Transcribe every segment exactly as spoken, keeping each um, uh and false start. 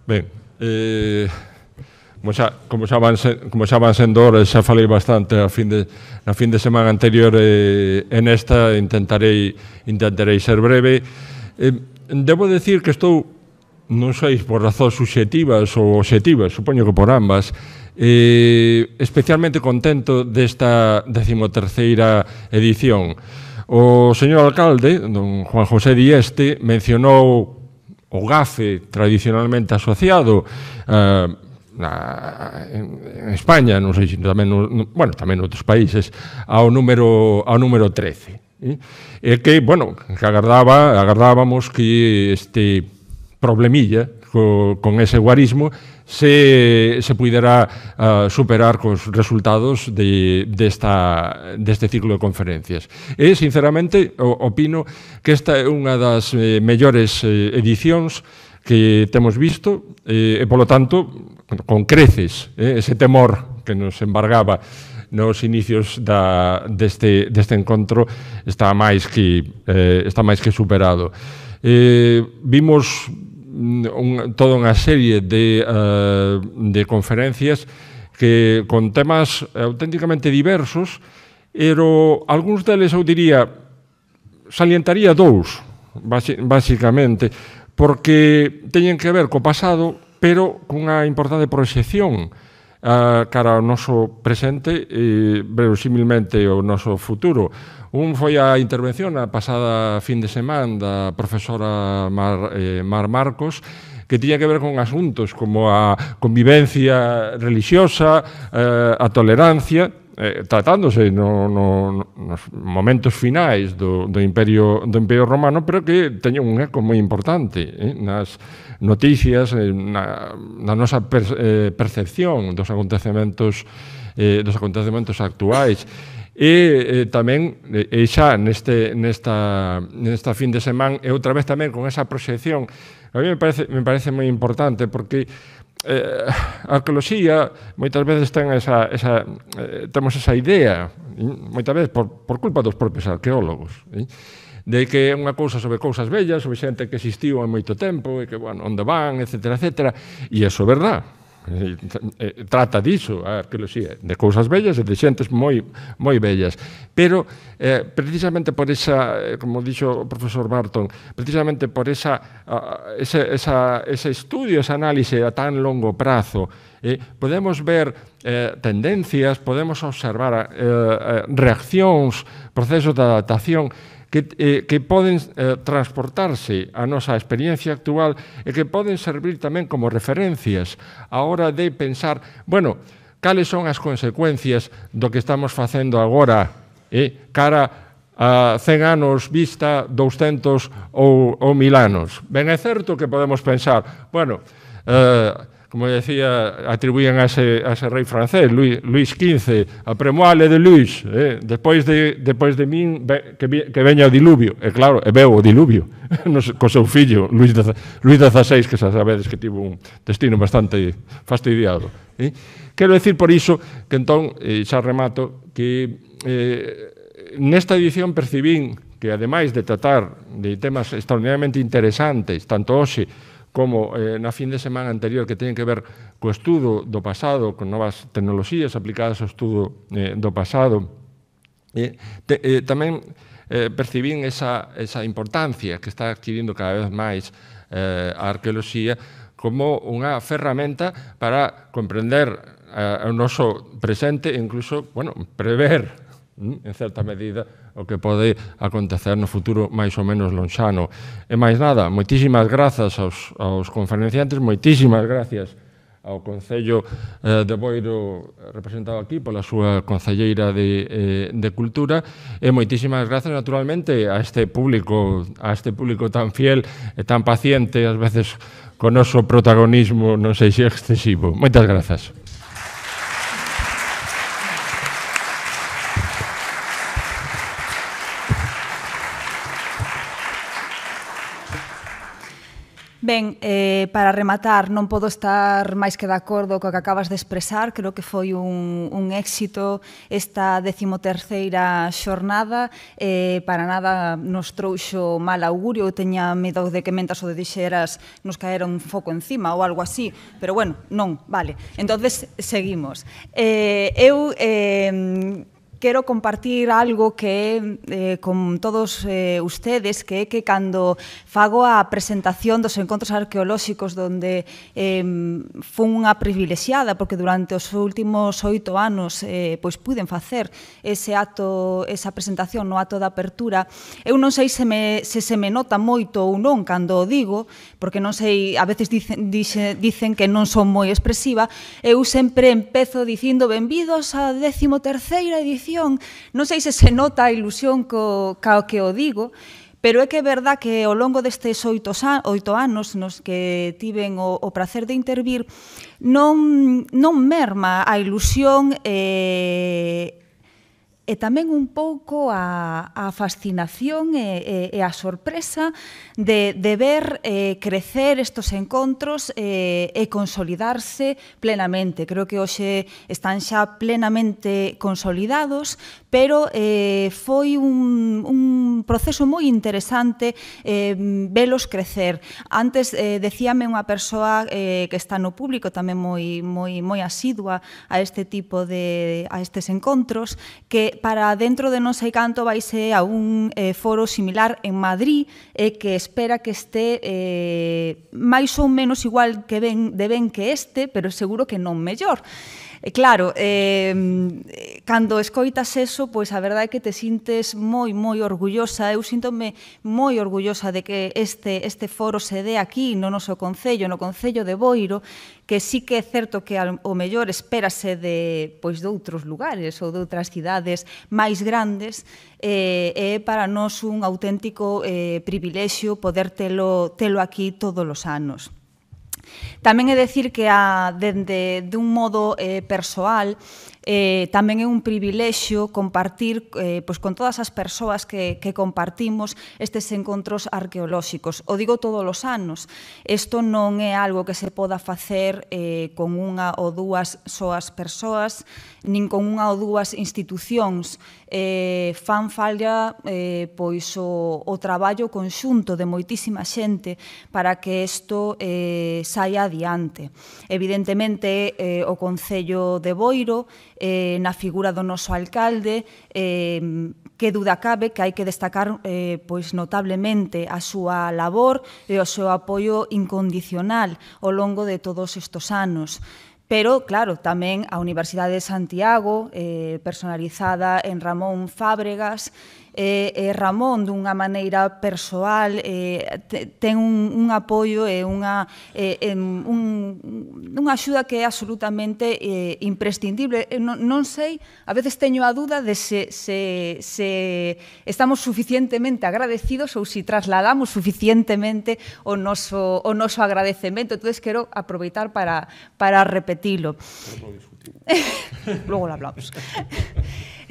Ben, eh, como xa, como xa van, se, como xa van sendo horas, xa falei bastante a fin de, na fin de semana anterior e eh, en esta intentarei, intentarei ser breve. Eh, debo decir que estou, non sei por razóns subxectivas ou obxectivas, supoño que por ambas, eh, especialmente contento desta decimoterceira edición. O señor alcalde, don Juan José Dieste, mencionou o gafe tradicionalmente asociado uh, na, en, en España, non sei se tamén, no, bueno, tamén en outros países, ao número, ao número trece. E eh? que, bueno, que agardaba, agardábamos que este problemilla co, con ese guarismo se, se pudera uh, superar cos resultados de, desta, deste ciclo de conferencias. E, sinceramente, opino que esta é unha das eh, mellores eh, edicións que temos visto eh, e, polo tanto, con creces, eh, ese temor que nos embargaba nos inicios da, deste, deste encontro está máis que, eh, está máis que superado. Eh, vimos Un, toda unha serie de, uh, de conferencias que con temas auténticamente diversos, pero algúns deles eu diría, salientaría dous, basicamente, porque teñen que ver co pasado, pero cunha importante proxección uh, cara ao noso presente e, verosímilmente, ao noso futuro. Un foi a intervención a pasada fin de semana da profesora Mar, eh, Mar Marcos, que tiña que ver con asuntos como a convivencia religiosa, eh, a tolerancia, eh, tratándose no, no, nos momentos finais do, do, Imperio, do Imperio Romano, pero que teña un eco moi importante eh, nas noticias, eh, na, na nosa per, eh, percepción dos acontecementos, eh, dos acontecementos actuais. E eh, tamén, e xa neste, nesta, nesta fin de semana, e outra vez tamén con esa proxección, a mí me parece, me parece moi importante, porque eh, a arqueoloxía moitas veces ten esa, esa, eh, temos esa idea, moitas veces por, por culpa dos propios arqueólogos, eh, de que é unha cousa sobre cousas bellas, sobre xente que existiu há moito tempo, e que, bueno, onde van, etcétera, etcétera, e iso é verdad. Trata diso a arqueoloxía, de cousas bellas e de xentes moi moi bellas, pero eh, precisamente por esa, como dixo o profesor Barton, precisamente por esa, uh, ese, esa, ese estudio, esa análise a tan longo prazo, eh, podemos ver eh, tendencias, podemos observar eh, reaccións, procesos de adaptación que, eh, que poden eh, transportarse a nosa experiencia actual e que poden servir tamén como referencias a hora de pensar, bueno, cales son as consecuencias do que estamos facendo agora eh, cara a cen anos vista, douscentos ou, ou mil anos. Ben é certo que podemos pensar, bueno, eh, como decía, atribuían a ese, a ese rei francés, Luis, Luis quince, a premoale de Luis, eh, despois de, despois de min, be, que, que veña o diluvio. E claro, e veo o diluvio, co seu fillo, Luis, Luis dieciséis, que xa sabedes que tivo un destino bastante fastidiado. Eh? Quero decir por iso que entón, eh, xa remato, que eh, nesta edición percibín que, ademais de tratar de temas extraordinariamente interesantes, tanto hoxe como eh, na fin de semana anterior, que teñen que ver co estudo do pasado, con novas tecnoloxías aplicadas ao estudo eh, do pasado. Eh, te, eh, tamén eh, percibín esa, esa importancia que está adquirindo cada vez máis eh, a arqueoloxía como unha ferramenta para comprender eh, o noso presente e incluso, bueno, prever en certa medida o que pode acontecer no futuro máis ou menos lonxano. E máis nada, moitísimas grazas aos, aos conferenciantes, moitísimas gracias ao Concello eh, de Boiro representado aquí pola súa concelleira de, eh, de Cultura, e moitísimas grazas naturalmente a este público, a este público tan fiel e tan paciente, ás veces con o noso protagonismo non sei se excesivo. Moitas grazas. Ben, eh, para rematar, non podo estar máis que de acordo co que acabas de expresar. Creo que foi un, un éxito esta decimoterceira xornada. Eh, para nada nos trouxo mal augurio. Eu teña medo de que mentas o de dixeras nos caera un foco encima ou algo así. Pero bueno, non, vale. Entonces, seguimos. Eh, eu... Eh, Quero compartir algo que eh, con todos eh, ustedes, que é que cando fago a presentación dos encontros arqueolóxicos donde eh, fun unha privilexiada, porque durante os últimos oito anos eh, pois puden facer ese acto, esa presentación no acto da apertura, eu non sei se, me, se se me nota moito ou non cando o digo, porque non sei, a veces dicen, dice, dicen que non son moi expresiva, eu sempre empezo dicindo benvidos á decimoterceira edición. Non sei se se nota a ilusión co, co que o digo, pero é que é verdad que ao longo destes oito, oito anos nos que tiven o, o prazer de intervir, non, non merma a ilusión e, e tamén un pouco a, a fascinación e, e, e a sorpresa de, de ver eh, crecer estos encontros eh, e consolidarse plenamente. Creo que hoxe están xa plenamente consolidados, pero eh, foi un, un proceso moi interesante eh, velos crecer. Antes eh, decíame unha persoa eh, que está no público tamén moi, moi, moi asidua a este tipo de a estes encontros, que para dentro de non sei canto vaise a un eh, foro similar en Madrid e eh, que espera que este eh, máis ou menos igual que ben, de ben que este, pero seguro que non mellor. E claro, eh, cando escoitas eso, pois a verdade é que te sintes moi, moi orgullosa. Eu síntome moi orgullosa de que este, este foro se dé aquí no noso concello, no concello de Boiro, que sí que é certo que ao mellor espérase de, pois, de outros lugares ou de outras cidades máis grandes, e eh, é para nós un auténtico eh, privilexio poder telo, telo aquí todos os anos. Tamén é dicir que a, dende de un modo eh, persoal, eh, tamén é un privilexio compartir eh, pois, con todas as persoas que, que compartimos estes encontros arqueolóxicos. O digo todos os anos. Isto non é algo que se poda facer eh, con unha ou dúas soas persoas, nin con unha ou dúas institucións. Eh, fan falla eh, pois o, o traballo conxunto de moitísima xente para que isto eh, saia adiante. Evidentemente, eh, o Concello de Boiro, eh, na figura do noso alcalde, eh, que duda cabe que hai que destacar eh, pois notablemente a súa labor e o seu apoio incondicional ao longo de todos estes anos. Pero, claro, tamén a Universidade de Santiago, eh, personalizada en Ramón Fábregas, e eh, Ramón, dunha maneira persoal, eh, ten un, un apoio e unha, eh, un, unha axuda que é absolutamente eh, imprescindible. Non, non sei, a veces teño a dúda de se, se, se estamos suficientemente agradecidos ou se trasladamos suficientemente o noso, o noso agradecemento. Entón, quero aproveitar para, para repetilo. Logo lo hablamos.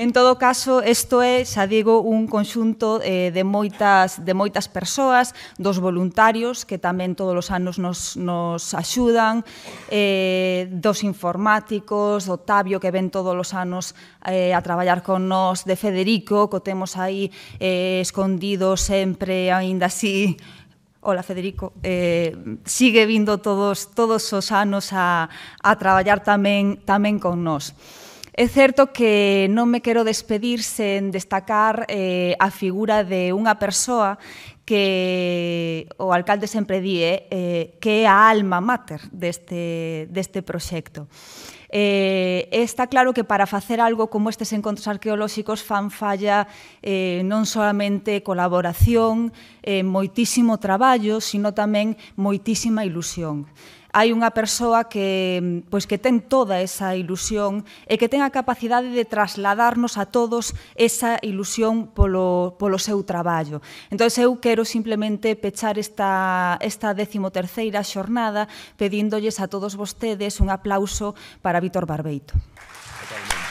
En todo caso, isto é, xa digo, un conxunto eh, de, moitas, de moitas persoas, dos voluntarios, que tamén todos os anos nos, nos axudan, eh, dos informáticos, do Tabio, que ven todos os anos eh, a traballar con nós, de Federico, que o temos aí eh, escondido sempre, aínda así. Hola, Federico. Eh, sigue vindo todos, todos os anos a, a traballar tamén, tamén con nós. É certo que non me quero despedir sen destacar eh, a figura de unha persoa que o alcalde sempre di eh, que é a alma mater deste, deste proxecto. Eh, está claro que para facer algo como estes encontros arqueolóxicos fan falla eh, non solamente colaboración, eh, moitísimo traballo, sino tamén moitísima ilusión. Hai unha persoa que, pois, que ten toda esa ilusión e que ten a capacidade de trasladarnos a todos esa ilusión polo, polo seu traballo. Entón, eu quero simplemente pechar esta, esta decimoterceira xornada pedíndolles a todos vostedes un aplauso para Vítor Barbeito. Totalmente.